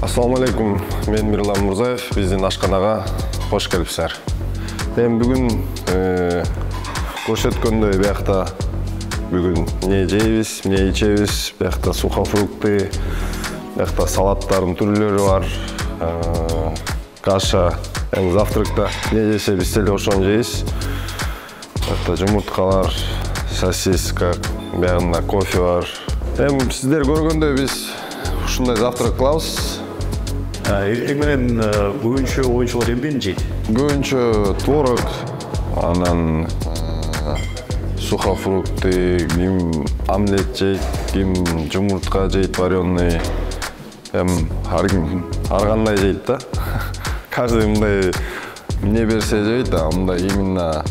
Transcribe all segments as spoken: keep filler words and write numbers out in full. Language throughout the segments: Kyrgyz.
Assalamu alaikum, men Miрлан Мурзаев, биздин ашканага кош келипсиздер. Мен бүгүн көрсөткөндөй биякта бүгүн эмне жейбиз, эмне ичебиз, биякта сухофрукты, биякта салаттардын түрлөрү бар, каша, эми завтракта эмне жесе биз деле ошону жейбиз. Биякта жумурткалар, сосиска, биягында кофе бар. Эми сиздер көргөндөй биз ушундай завтрак кылабыз. Эртең менен көбүнчө оюнчулар эмнени жейт? Көбүнчө творог, анан сухофрукты, ким омлет жейт, ким жумуртка жейт вареный. Эми ар ким ар кандай жейт да. Каждый мындай эмне берсе жейт да, мындай именно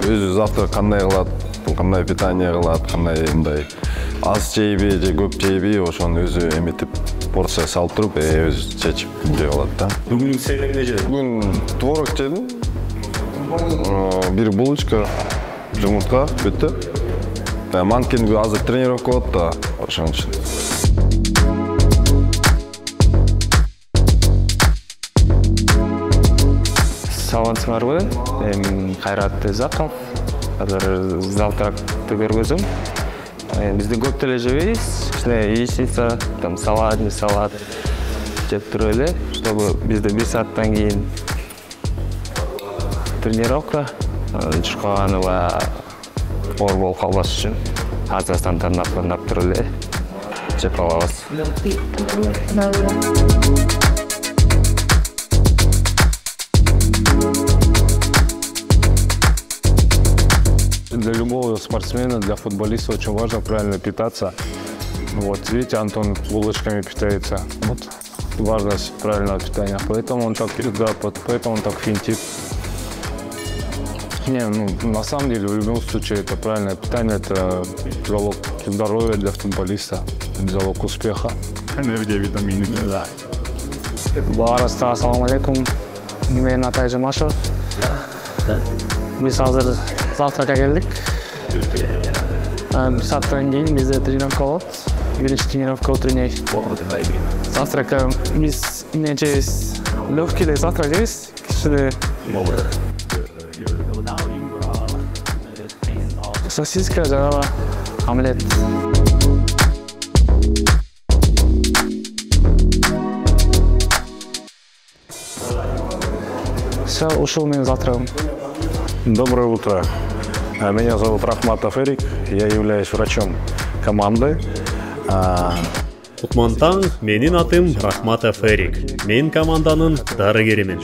өзү завтрак кандай кылат, кандай питание кылат, кандай мындай аз жейби же көп жейби, ошону өзү эметип порция салып туруп, өзү чечип жеп алат да. Бүгүн сен эмне жедиң? Бүгүн творог жедим. Бир булочка, жумуртка, бүттү. Манкин азыр тренировка болот да, ошон үчүн. Саламатсыңарбы? Мен Кайрат Заков. Азыр завтракты көргөзөм. Бизде көп деле жебейбиз. Кичине яичница, там салат, не салат жеп туруп эле, чтобы бизде бир сааттан кийин тренировка, чуркаганы баягы оор болуп калбаш үчүн азырдан тандап туруп эле жеп алабыз. Для любого спортсмена, для футболиста очень важно правильно питаться. Вот, видите, Антон булочками питается. Вот важность правильного питания. Поэтому он так, да, поэтому он так финтит. Не, ну, на самом деле, в любом случае, это правильное питание, это залог здоровья для футболиста, залог успеха. Энергия, витамины. Да. Барыста, ассаламу алейкум. Мен Атай Жумашев. Биз азыр завтракка келдик. Бир сааттан кийин бизде тренировка болот. Биринчи тренировка утренний. Завтракка биз эмне жейбиз? Легкий эле завтрак жейбиз. Кичине сосиска жана омлет. Всё, ушул менин завтрагым. Доброе утро. Меня зовут Рахматов Эрик. Я являюсь врачом команды. Утмантаң, менин атым Рахматов Эрик. Мен команданын дарыгеримен.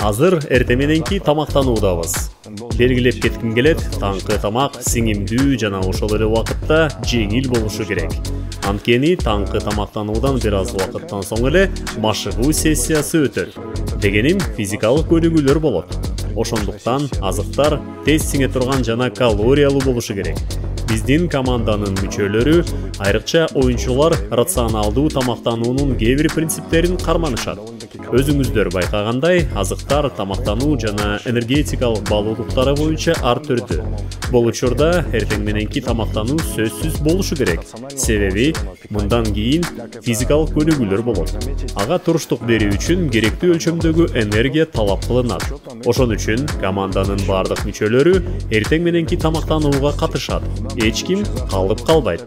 Азыр эртең мененки тамактануудабыз. Белгилеп кетким келет, таңкы тамак сиңимдүү жана ошол эле убакытта жеңил болушу керек. Анткени таңкы тамактануудан бир аз убакыттан соң эле машыгуу сессиясы өтөт. Дегеним физикалык көнүгүүлөр болот. Ошондуктан азыктар тез сиңе турган жана калориялуу болушу керек. Биздин команданын мүчөлөрү, айрыкча оюнчулар рационалдуу тамактануунун кээ бир принциптерин карманышат. Өзүңүздөр байкагандай, азыктар тамактануу жана энергетикалык баалуулуктары боюнча ар түрдүү. Бул учурда эртең мененки тамактануу сөзсүз болушу керек. Себеби мындан кийин физикалык көнүгүүлөр болот. Ага туруштук берүү үчүн керектүү өлчөмдөгү энергия талап кылынат. Ошон үчүн команданын бардык мүчөлөрү эртең мененки тамактанууга катышат. Эч ким калып калбайт.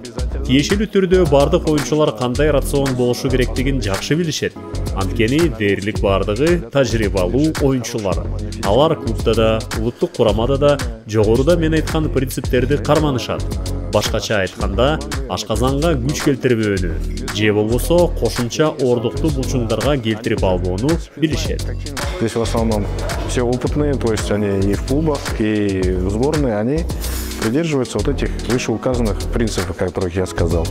Тиешелүү түрдө бардык оюнчулар кандай рацион болушу керектигин жакшы билишет. Анткени дээрлик бардыгы тажрыйбалуу оюнчулар. Алар клубда да, улуттук курамада да жогоруда мен айткан принциптерди карманышат. Башкача айтканда, ашказанга күч келтирбөөнү, же болбосо кошумча ордукту булчуңдарга келтирип албоону билишет. Здесь в основном все опытные, то есть они и в клубах, и в сборной, они придерживаются вот этих вышеуказанных принципов, о которых я сказал.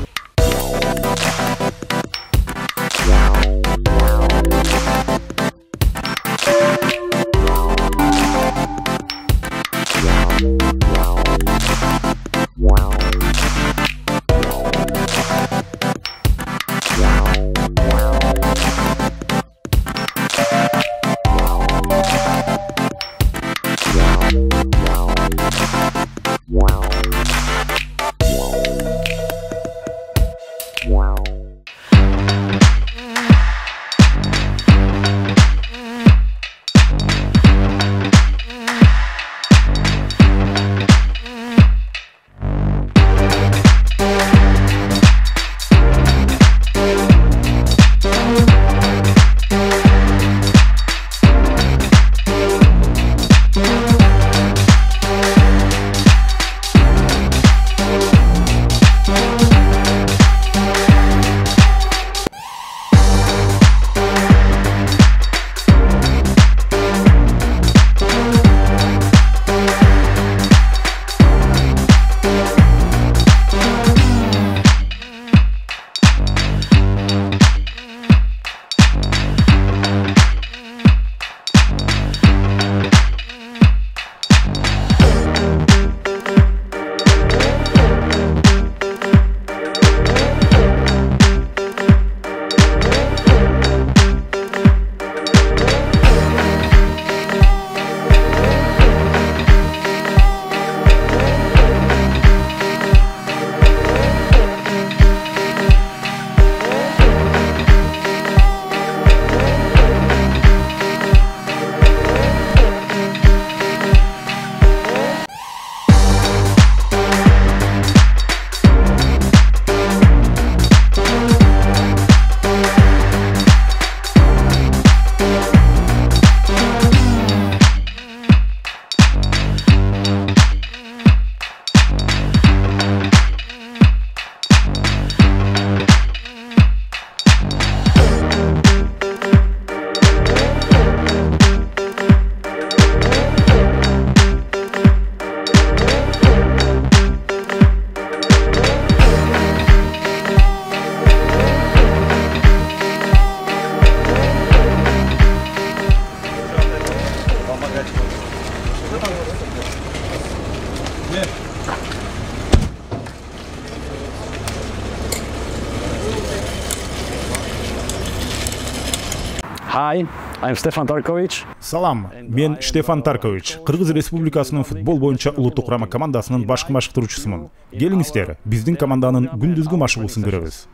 Hi, I'm Stefan Tarkovic. Салам, мен Штефан Таркович, Кыргыз Республикасынын футбол боюнча улуттук курама командасынын башкы машыктыруучусумун. Келиңиздер, биздин команданын күндүзгү машыгуусун көрөбүз.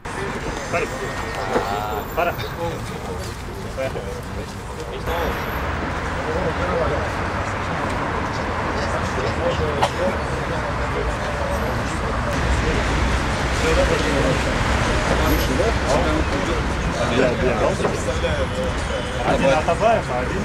Один Атабаев, а один...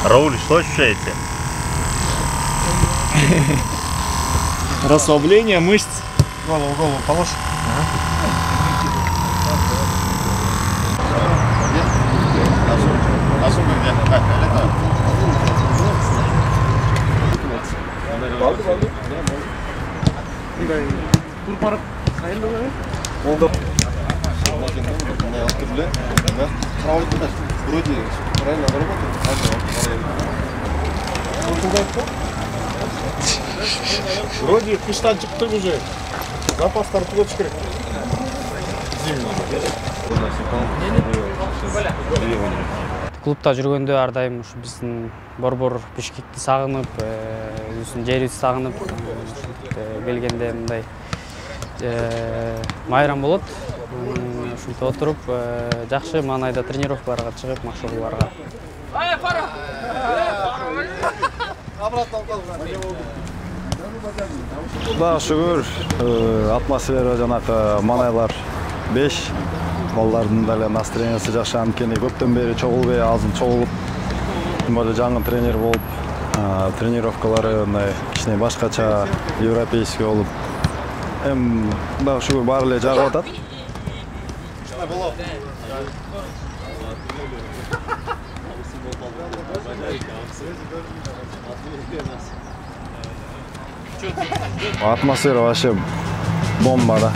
Рауль, что ощущаете? Расслабление мышц. Голову, голову положь. Вроде правильно работает. Вроде кыштан чыктык уже. Запастар плоть керек. Клубта жүргөндө ар дайым ушу биздин борбор Бишкекти сагынып, өзүбүздүн жерибизди сагынып келгенде мындай майрам болот. Ушинтип отуруп, жакшы маанайда тренировкаларга чыгып, машыгууларга. Кудайга шүгүр, атмосфера жанакы маанайлар беш. Балдардын деле настроениясы жакшы, анткени көптөн бери чогулбай, азыр чогулуп, боло жаңы тренер болуп, тренировкалары мындай кичине башкача, европейский болуп. Эми кудайга шүгүр баары эле жагып атат. Атмосфера вообще бомба, да.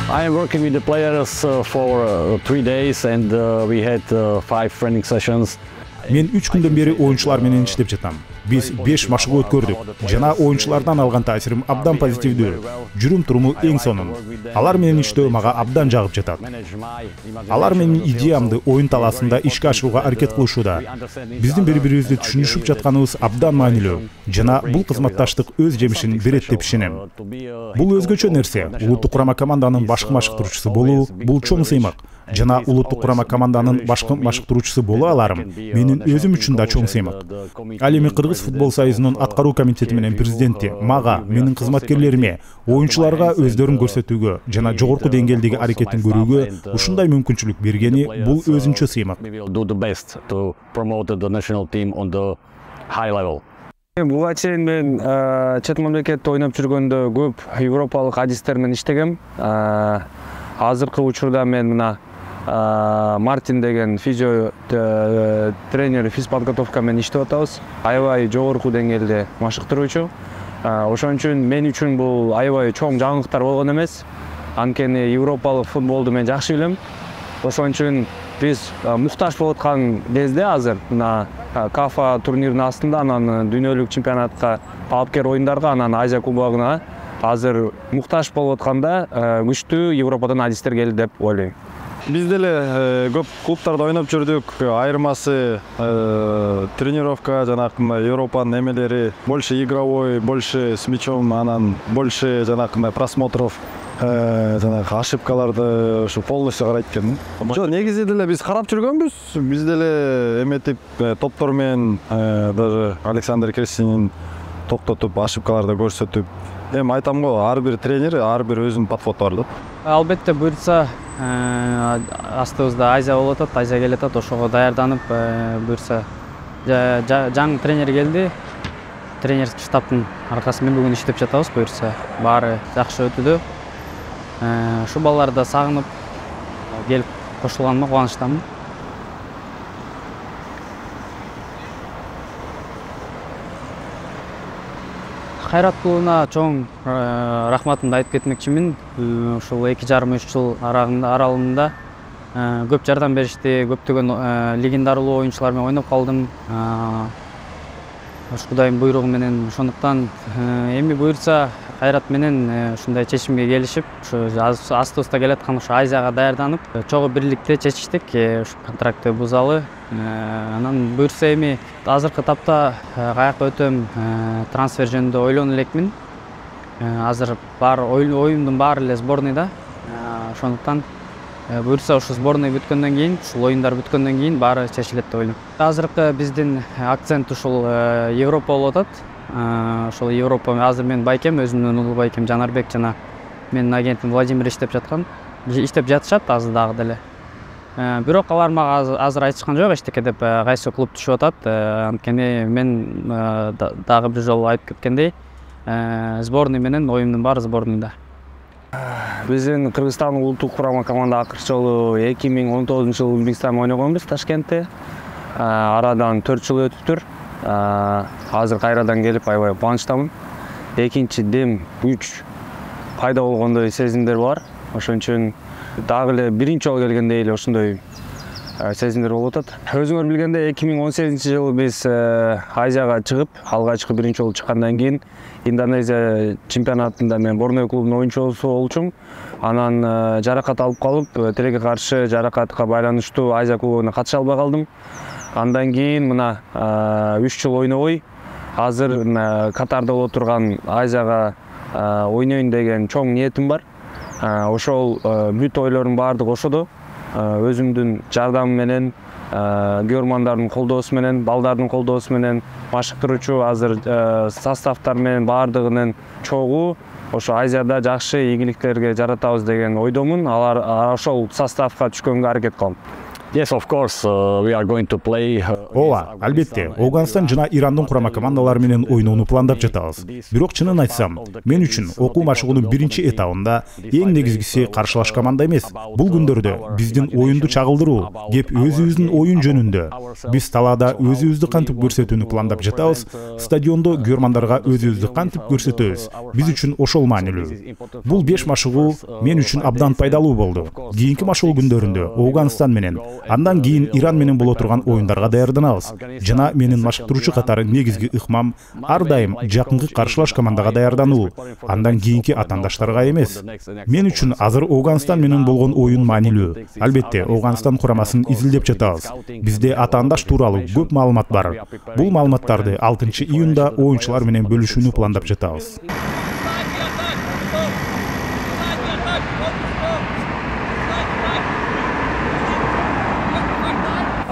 I am working with the players uh, for uh, three days and uh, we had uh, five training sessions. Мен үч күндөн бери оюнчулар менен иштеп жатам. Биз беш машыгуу өткөрдүк. Жана оюнчулардан алган таасирим абдан позитивдүү. Жүрүм-туруму эң сонун. Алар менен иштөө мага абдан жагып жатат. Алар менин идеямды оюн талаасында ишке ашырууга аракет кылышууда. Биздин бири-бирибизди түшүнүшүп жатканыбыз абдан маанилүү. Жана бул кызматташтык өз жемишин берет деп ишенем. Бул өзгөчө нерсе. Улуттук курама команданын башкы машыктыруучусу болуу бул чоң сыймак. Жана улуттук курама команданын башкы машыктыруучусу боло аларым менин өзүм үчүн да чоң сыймак. Ал эми Кыргыз футбол союзунун аткаруу комитети менен президенти мага, менин кызматкерлериме, оюнчуларга өздөрүн көрсөтүүгө жана жогорку деңгээлдеги аракетин көрүүгө ушундай мүмкүнчүлүк бергени бул өзүнчө сыймак. Буга чейин мен чет мамлекетте ойноп жүргөндө көп европалык адистер менен иштегем. Азыркы учурда мен мына Мартин деген физио тренер физподготовка менен иштеп атабыз. Аябай жогорку деңгээлде машыктыруучу. Ошон үчүн мен үчүн бул аябай чоң жаңылыктар болгон эмес. Анткени европалык футболду мен жакшы билем. Ошон үчүн биз муктаж болуп аткан кезде азыр мына КАФА турниринин астында, анан дүйнөлүк чемпионатка, талапкер оюндарга, анан Азия кубогуна азыр муктаж болуп атканда күчтүү Европадан адистер келди деп ойлойм. Биз деле көп клубтарда ойноп жүрдүк. Айырмасы тренировка, жанакындай Европанын эмелери больше игровой, больше с мячом, анан больше жанакындай просмотров, жанагы ошибкаларды ушу полностью карайт экен. Жок, негизи деле биз карап жүргөнбүз. Биз деле эметип топтор менен даже Александр Крестинин токтотуп, ошибкаларды көрсөтүп. Эми айтам го, ар бир тренер, ар бир өзүнүн подходу бар да. Албетте буйрса астыбызда Азия болуп атат, Азия келип атат, ошого даярданып буйрса жаңы тренер келди. Тренерский штабтын аркасы менен бүгүн иштеп жатабыз, буйрса баары жакшы өтүүдө. Ушу балаларды да сагынып келип кошулганыма кубанычтамын. Кайрат клубуна чоң рахматымды айтып кетмекчимин. Ушул эки жарым үч жыл аралыгында көп жардам беришти, көптөгөн легендарылуу оюнчулар менен ойноп калдым. Кудайдын буйругу менен, ошондуктан эми буйрса Кайрат менен ушундай чечимге келишип, ушу астыбызда келаткан ушу Азияга даярданып, чогуу бирликте чечиштик ушу контрактты бузалы. Анан буйрса эми азыркы тапта каяка өтөм трансфер жөнүндө ойлону элекмин. Азыр бар оюмдун баары эле сборныйда. Ошондуктан буйрса ушу сборный бүткөндөн кийин, ушул оюндар бүткөндөн кийин баары чечилет деп ойлойм. Азыркы биздин акцент ушул Европа болуп атат. Ошол Европа азыр мен байкем, өзүмдүн улуу байкем Жанарбек жана менин агентим Владимир иштеп жаткан. Иштеп жатышат азыр дагы деле. Бирок алар мага азыр айтышкан жок эчтеке деп, кайсы клуб түшүп атат. Анткени мен дагы бир жолу айтып кеткендей, сборный менен оюмдун баары сборныйда. Биздин Кыргызстандын улуттук курама команда акыркы жолу эки миң он тогузунчу жылы Өзбекстанда ойногонбуз Ташкентте. Арадан төрт жыл өтүптүр. Азыр кайрадан келип аябай кубанычтамын. Экинчи дем күч пайда болгондой сезимдер бар. Ошон үчүн дагы эле биринчи жолу келгендей эле ошондой сезимдер болуп атат. Өзүңөр билгендей эки миң он сегизинчи жылы биз Азияга чыгып, алгачкы биринчи жолу чыккандан кийин Индонезия чемпионатында мен Борнео клубунун оюнчусу болчумун. Анан жаракат алып калып, тилекке каршы жаракатка байланыштуу Азия кубогуна катыша албай калдым. Андан кийин мына үч жыл ойнобой, азыр Катарда боло турган Азияга ойнойн деген чоң ниетим бар. Ошол бүт ойлордун баардыгы ошодо. Өзүмдүн жардамым менен, көрмандардын колдоосу менен, балдардын колдоосу менен, машыктыруучу азыр составтар менен баардыгынын чогуу ошо Азияда жакшы ийгиликтерге жаратабыз деген ойдомун. Алар ошол составка түшкөнгө аракет кылам. Yes, of course, uh, we are going to play. Ооба, албетте, Ауганстан жана Ирандын курама командалары менен ойноону пландап жатабыз. Бирок чынын айтсам, мен үчүн окуу машыгуунун биринчи этабында эң негизгиси каршылаш команда эмес. Бул күндөрдө биздин оюнду чагылдыруу, кеп өзүбүздүн оюн жөнүндө. Биз талаада өзүбүздү кантип көрсөтүүнү пландап жатабыз, стадиондо көрмандарга өзүбүздү кантип көрсөтөбүз. Биз үчүн ошол маанилүү. Бул беш машыгуу мен үчүн абдан пайдалуу болду. Кийинки машыгуу күндөрүндө Ауганстан менен, андан кийин Иран менен боло турган оюндарга даярданабыз. Жана менин машыктыруучу катары негизги ыкмам ар дайым жакынкы каршылаш командага даярдануу, андан кийинки атаандаштарга эмес. Мен үчүн азыр Ауганстан менен болгон оюн маанилүү. Албетте, Ауганстан курамасын изилдеп жатабыз. Бизде атаандаш тууралуу көп маалымат бар. Бул маалыматтарды алтынчы июнда оюнчулар менен бөлүшүүнү пландап жатабыз.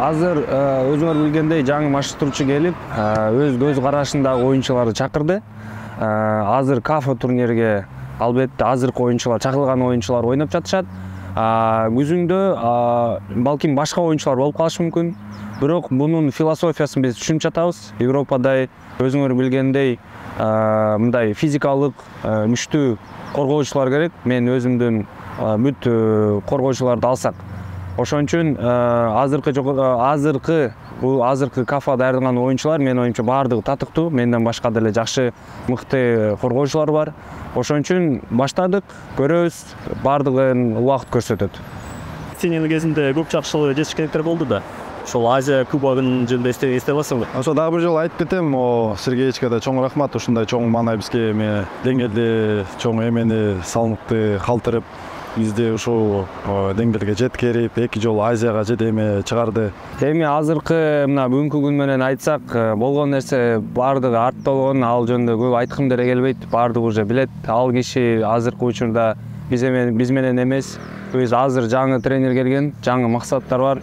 Азыр өзүңөр билгендей жаңы машыктыруучу келип, өз көз карашындагы оюнчуларды чакырды. Азыр КАФ турнирге албетте азыркы оюнчулар, чакырылган оюнчулар ойноп жатышат. Күзүндө балким башка оюнчулар болуп калышы мүмкүн. Бирок бунун философиясын биз түшүнүп жатабыз. Европада өзүңөр билгендей мындай физикалык күчтүү коргоочулар керек. Мен өзүмдүн бүт коргоочуларды алсак, ошон үчүн азыркы азыркы бул азыркы КАФа даярдаган оюнчулар менин оюмча баардыгы татыктуу. Менден башка деле жакшы мыкты коргоочулар бар. Ошон үчүн баштадык, көрөбүз, баардыгын убакыт көрсөтөт. Сенин кезинде көп жакшы жетишкендиктер болду да. Ошол Азия кубогунун жөнүндө эстеп аласыңбы? Ошо дагы бир жолу айтып кетем, Сергеевичке да чоң рахмат, ушундай чоң маанай бизге эме деңгээлде чоң эмени салмыкты калтырып, бизди ушул деңгээлге жеткирип, эки жолу Азияга жетеме чыгарды. Эми азыркы мына бүгүнкү күн менен айтсак, болгон нерсе баардыгы артта болгон, ал жөнүндө көп айткым деле келбейт. Баардыгы уже билет. Ал киши азыркы учурда биз эме биз менен эмес. Биз азыр жаңы тренер келген, жаңы максаттар бар.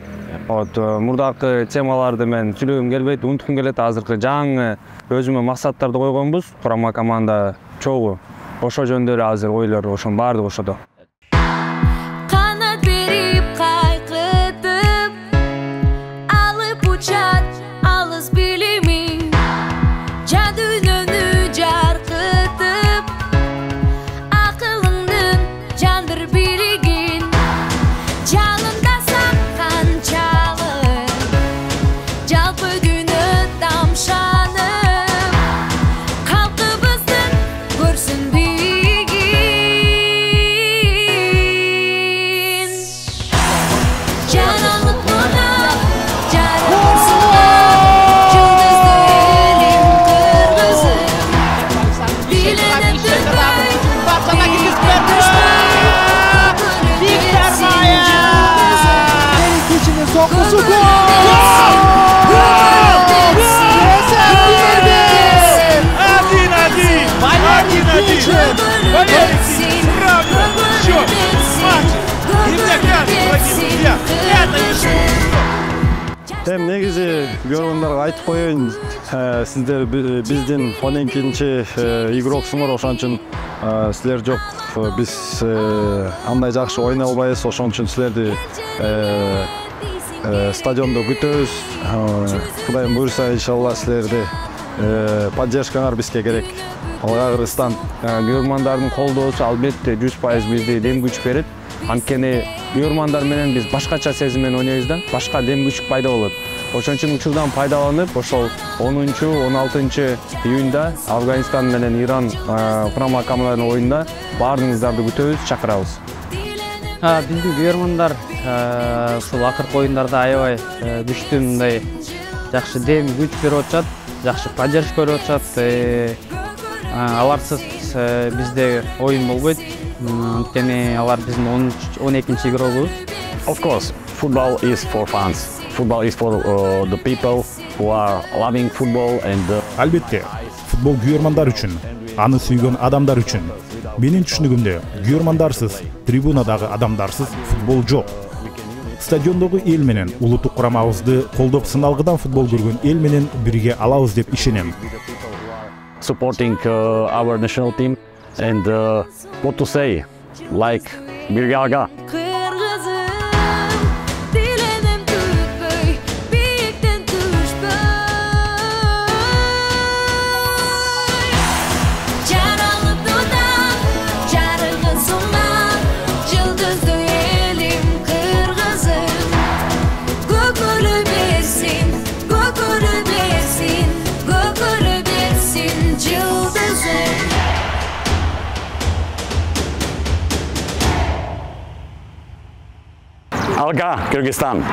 Вот мурдакы темаларды мен сүйлөгүм келбейт, унуткум келет. Азыркы жаңы өзүмө максаттарды койгонбуз. Курама команда чогуу. Ошо жөндөдө азыр ойлор, ошонун баардыгы ошодо. Эми негизи көргөндөргө айтып коеюн, сиздер биздин фоненкинчи игроксуңар, ошон үчүн силер жок, биз андай жакшы ойнай албайбыз, ошон үчүн силерди стадиондо күтөбүз. Кудайым буйрса, иншалла силерди поддержкаңар бизге керек. Алга Кыргызстан. Уйгурмандардын колдоосу албетте жүз пайыз бизди дем күч берет. Анткени уйгурмандар менен биз башкача сезим менен ойнойбуз да, башка дем күч пайда болот. Ошон үчүн учурдан пайдаланып, ошол онунчу он алтынчы июнда Афганистан менен Иран курама командаларынын оюнда баардыгыңыздарды күтөбүз, чакырабыз. Биздин уйгурмандар ушул акыркы оюндарда аябай күчтүү, мындай жакшы дем күч берип атышат, жакшы поддержка берип атышат. Аларсыз бизде оюн болбойт. Анткени алар биздин он экинчи игрогубуз. Of course, football is for fans. Football is for uh, the people who are loving football and uh... Албетте, футбол күйөрмандар үчүн, аны сүйгөн адамдар үчүн. Менин түшүнүгүмдө, күйөрмандарсыз, трибунадагы адамдарсыз футбол жок. Стадиондогу эл менен улуттук курамабызды колдоп сыналгыдан футбол көргөн эл менен бирге алабыз деп ишенем. Supporting uh, our national team and uh, what to say, like birge aga. Alga, Kyrgyzstan.